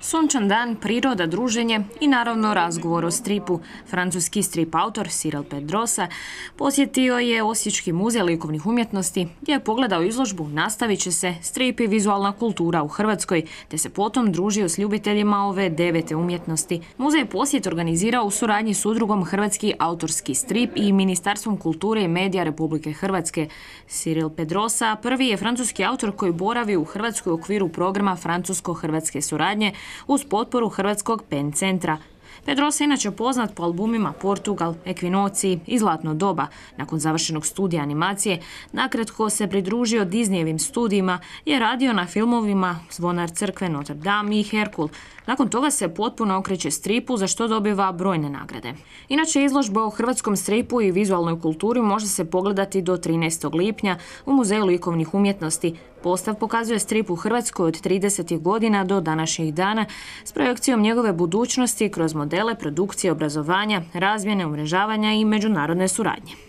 Sunčan dan, priroda, druženje i naravno razgovor o stripu. Francuski strip autor Cyril Pedrosa posjetio je Osječki muzej likovnih umjetnosti gdje je pogledao izložbu Nastavit će se strip i vizualna kultura u Hrvatskoj, te se potom družio s ljubiteljima ove 9. umjetnosti. Muzej je posjet organizirao u suradnji s udrugom Hrvatski autorski strip i Ministarstvom kulture i medija Republike Hrvatske. Cyril Pedrosa prvi je francuski autor koji boravi u Hrvatskoj u okviru programa francusko-hrvatske suradnje uz potporu Hrvatskog PEN centra. Pedrosa je inače poznat po albumima Portugal, Ekvinociji i Zlatno doba. Nakon završenog studija animacije, nakratko se pridružio Disneyevim studijima i je radio na filmovima Zvonar crkve, Notre Dame i Herkul. Nakon toga se potpuno okreće stripu, za što dobiva brojne nagrade. Inače, izložba o hrvatskom stripu i vizualnoj kulturi može se pogledati do 13. lipnja u Muzeju likovnih umjetnosti. Postav pokazuje strip u Hrvatskoj od 30. godina do današnjih dana s projekcijom njegove budućnosti kroz modele produkcije, obrazovanja, razmjene, umrežavanja i međunarodne suradnje.